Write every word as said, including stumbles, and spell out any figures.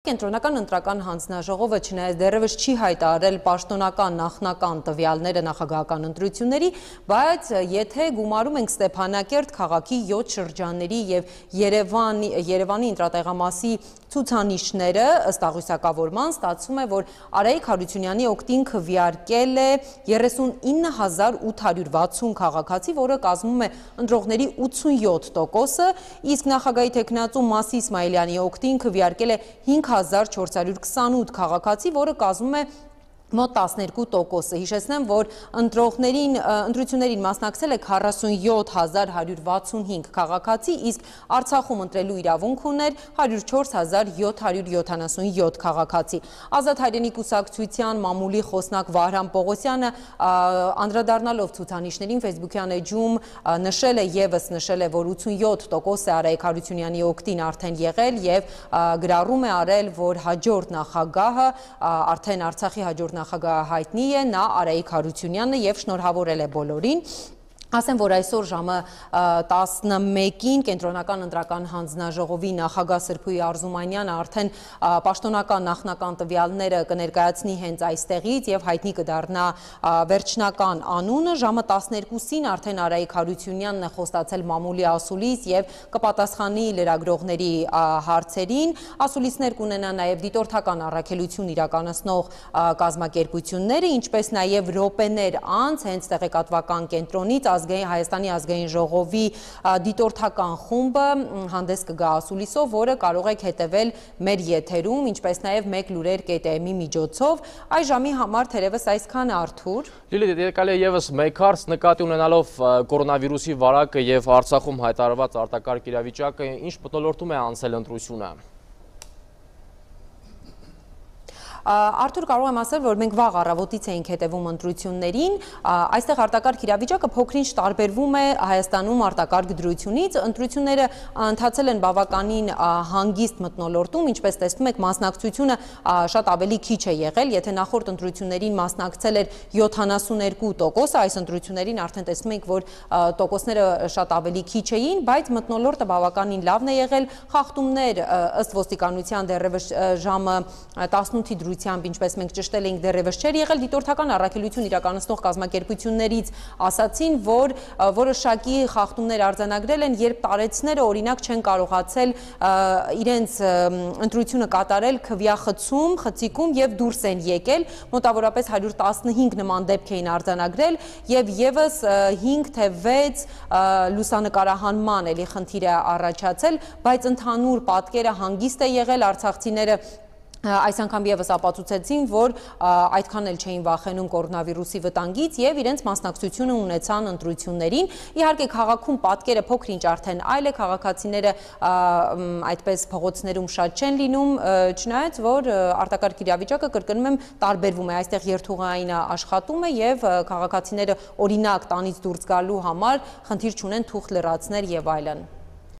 Կենտրոնական ընտրական հանձնաժողովը չնայած դեռևս չի հայտարարել պաշտոնական նախնական տվյալները նախագահական ընտրությունների, բայց եթե գումարում ենք Ստեփանակերտ քաղաքի յոթ շրջանների եւ Երևանի Երևանի ընտրատեղամասի ցուցանիշները ըստ աղյուսակավորման ստացվում է, որ Արայիկ Հարությունյանի օգտին քվեարկել է երեսունինը հազար ութ հարյուր վաթսուն քաղաքացի, որը կազմում է ընտրողների ութսունյոթ տոկոսը, իսկ նախագահի թեկնածու Մասի Իսմայելյանի օգտին քվեարկել է հինգ հազար չորս հարյուր քսանութ քաղաքացի, որը կազմում է մոտ տասներկու տոկոսը։ Հիշեցնեմ, որ ընտրողներին ընտրություններին մասնակցել է քառասունյոթ հազար հարյուր վաթսունհինգ քաղաքացի, իսկ Արցախում ընտրելու իրավունք ուներ հարյուր չորս հազար յոթ հարյուր յոթանասունյոթ քաղաքացի։ Ազատ հայրենի կուսակցության մամուլի խոսնակ Վահրամ Պողոսյանը անդրադառնալով ցուցանիշներին Facebook-յան էջում նշել է եւս նշել է, որ ութսունյոթ տոկոս է Արայիկ Հարությունյանի օգտին արդեն եղել եւ գրառում է արել, որ հաջորդ նախագահը արդեն Արցախի հաջորդ նախագահը հայտնի է, նա Արայիկ Հարությունյանը եւ շնորհավորել է բոլորին։ Ասեմ, որ այսօր ժամը տասնմեկին Կենտրոնական ընտրական հանձնաժողովի նախագահ Սրփուհի Արզումանյանը արդեն պաշտոնական նախնական տվյալները կներկայացնի հենց այստեղից եւ հայտնի կդառնա վերջնական անունը։ Ժամը տասներկուսին արդեն Արայիկ Հարությունյանն է խոստացել մամուլի ասուլիս եւ կպատասխանի լրագրողների հարցերին։ Ասուլիսներ կունենա նաեւ դիտորդական առաքելություն իրականացնող կազմակերպությունները, ինչպես նաեւ րոպեներ անց հենց տեղեկատվական կենտրոնից Հայաստանի ազգային ժողովի դիտորդական խումբը հանդես կգա ասուլիսով, որը կարող եք հետևել մեր եթերում, ինչպես նաև մեկ լուրեր կետ էմ-ի միջոցով։ Այս ժամի համար թերևս այսքանը, Արթուր։ Լիլիթ, եկալ է եւս մեկ հարց նկատի ունենալով կորոնավիրուսի վարակը եւ Արցախում հայտարարված արտակարգ իրավիճակը, ինչ մթնոլորտում է անցել ընտրությունը։ Արթուր, կարող եմ ասել, որ մենք վաղ առավոտից էինք հետևում ընտրություններին, այստեղ արտակարգ իրավիճակը փոքրինչ տարբերվում է Հայաստանում արտակարգ դրությունից, ընտրությունները ընթացել են բավականին հանգիստ մթնոլորտում, ինչպես տեսնում եք, մասնակցությունը շատ ավելի քիչ է եղել, եթե նախորդ ընտրություններին մասնակցել էր յոթանասուներկու տոկոս, այս ընտրություններին արդեն տեսնում ենք, որ տոկոսները շատ ավելի քիչ էին, բայց մթնոլորտը բավականին լավն է եղել, խախտումներ ըստ ոստիկանության դեռևս ժամը տասնութի դրությամբ, ինչպես մենք ճշտել էինք, դեռևս չէր եղել, դիտորդական առաքելություն իրականացնող կազմակերպություններից ասացին, որ որոշակի խախտումներ արձանագրել են, երբ տարեցները օրինակ չեն կարողացել իրենց ընտրությունը կատարել քվեախցում, խցիկում եւ դուրս են եկել, մոտավորապես հարյուր տասնհինգ նման դեպք էին արձանագրել եւ եւս հինգ թե վեց լուսանկարահանման էլի խնդիր է առաջացել, բայց ընդհանուր պատկերը հանգիստ է եղել, արցախցիները այս անգամ եւս ապացուցեցին, որ այդքան էլ չէին վախենում կորոնավիրուսի վտանգից եւ իրենց մասնակցությունը ունեցան ընտրություններին։ Իհարկե քաղաքում պատկերը փոքրինչ արդեն այլ է, քաղաքացիները այդպես փողոցներում շատ չեն լինում, չնայած որ արտակարգ իրավիճակը, կրկնում եմ, տարբերվում է, այստեղ երթուղային աշխատում է եւ քաղաքացիները օրինակ տանից դուրս գալու համար խնդիր չունեն թուղթ լրացնել եւ այլն։